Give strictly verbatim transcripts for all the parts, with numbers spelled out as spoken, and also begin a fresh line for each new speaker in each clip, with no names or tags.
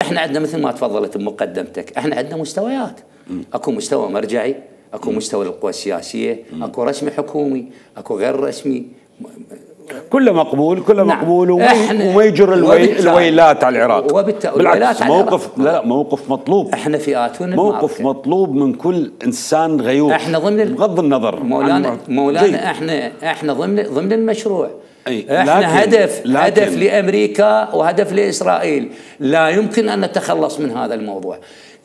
احنا عندنا مثل ما تفضلت بمقدمتك، احنا عندنا مستويات. اكو مستوى مرجعي، اكو مستوى للقوى السياسيه، اكو رسمي حكومي، اكو غير رسمي.
كله مقبول، كله
نعم.
مقبول، وما يجر الوي... الويلات على العراق. بالعكس موقف، لا لا موقف مطلوب.
احنا فئات
موقف مطلوب من كل انسان غيور.
احنا ضمن
بغض النظر
مولانا مولانا احنا احنا ضمن ضمن المشروع.
أي.
احنا
لكن
هدف
لكن
هدف لامريكا وهدف لاسرائيل، لا يمكن ان نتخلص من هذا الموضوع.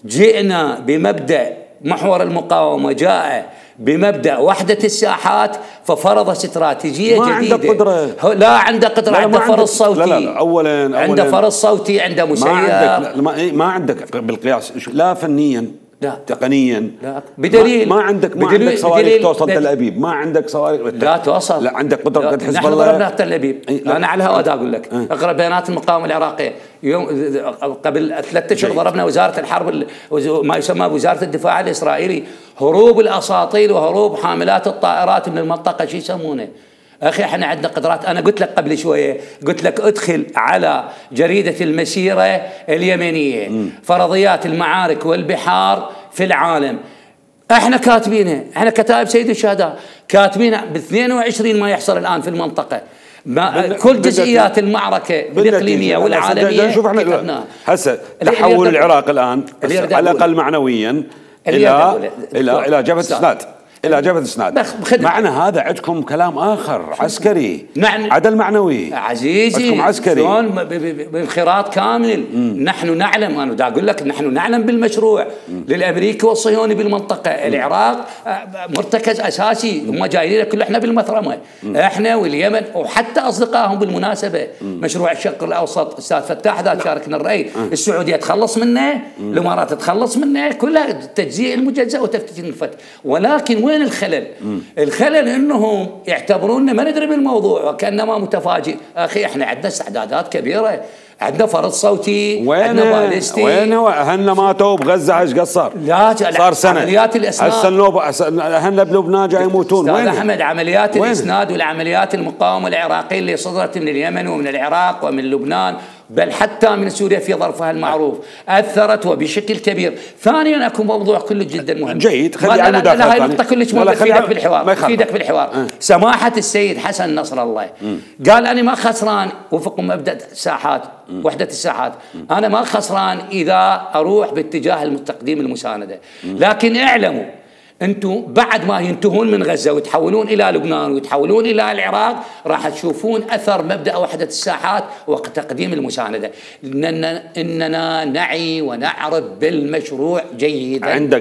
جئنا بمبدأ محور المقاومة، جاء بمبدأ وحدة الساحات، ففرض استراتيجية
ما
جديدة.
عنده قدرة.
لا عنده قدرة، عنده فرض صوتي.
لا لا لا أولاً, أولاً
عنده فرض صوتي، عنده مسير.
ما عندك ما, ما عندك بالقياس، لا فنيا،
لا
تقنيا،
لا بدليل
ما, ما عندك ما
بدليل
عندك صواريخ توصل
بدليل
تل أبيب، ما عندك صواريخ
لا توصل،
لا عندك قدرة قد حزب
الله. نحن ضربنا تل أبيب. أنا على الهواء أقول لك
أه.
اقرأ بيانات المقاومة العراقية. يوم قبل ثلاثة أشهر ضربنا وزارة الحرب، ما يسمى بوزارة الدفاع الإسرائيلي، هروب الأساطيل وهروب حاملات الطائرات من المنطقة. شو يسمونه؟ أخي احنا عندنا قدرات. أنا قلت لك قبل شوية، قلت لك ادخل على جريدة المسيرة اليمنية م. فرضيات المعارك والبحار في العالم، احنا كاتبينها، احنا كتائب سيد الشهداء كاتبينها ب اثنين وعشرين ما يحصل الآن في المنطقة. ما كل جزئيات المعركة الإقليمية والعالمية
شوف احنا هسه تحول العراق الآن على الأقل معنويا إلى إلى إلى جبهة إسناد، إلى جبهة إسناد. معنى هذا عندكم كلام آخر عسكري،
معنى
عدل معنوي
عزيزي،
عندكم عسكري
بانخراط كامل. مم. نحن نعلم، أنا دا أقول لك نحن نعلم بالمشروع مم. للأمريكي والصهيوني بالمنطقة. مم. العراق مرتكز أساسي، هم جايين كل احنا بالمثرمة، مم. احنا واليمن وحتى أصدقائهم بالمناسبة. مم. مشروع الشرق الأوسط أستاذ فتاح ذا شاركنا الرأي، مم. السعودية تخلص منه، مم. الإمارات تخلص منه، كلها تجزيء المجزأ وتفتيت الفتح. ولكن وين الخلل؟ مم. الخلل انهم يعتبروننا ما ندري بالموضوع وكانما متفاجئ. اخي احنا عندنا استعدادات كبيره، عندنا فرض صوتي، عندنا باليستي.
وين هو اهلنا ماتوا بغزه ايش قصر؟
لا
صار سنه
عمليات الاسناد،
هسه اهلنا بلبنان جاي يموتون.
وين احمد؟ عمليات وين؟ الاسناد والعمليات المقاومه العراقيه اللي صدرت من اليمن ومن العراق ومن لبنان، بل حتى من سوريا في ظرفها المعروف، اثرت وبشكل كبير. ثانيا اكو موضوع كله جدا مهم
جيد، خلي على المداخله.
لا هاي النقطه كلش مهمه تفيدك بالحوار، تفيدك بالحوار. أه. سماحه السيد حسن نصر الله م. قال انا ما خسران وفق مبدا الساحات، م. وحده الساحات، م. انا ما خسران اذا اروح باتجاه التقديم المسانده، م. لكن اعلموا انتم بعد ما ينتهون من غزه ويتحولون الى لبنان ويتحولون الى العراق راح تشوفون اثر مبدا وحده الساحات وتقديم المسانده. اننا اننا نعي ونعرف بالمشروع جيدا.
عندك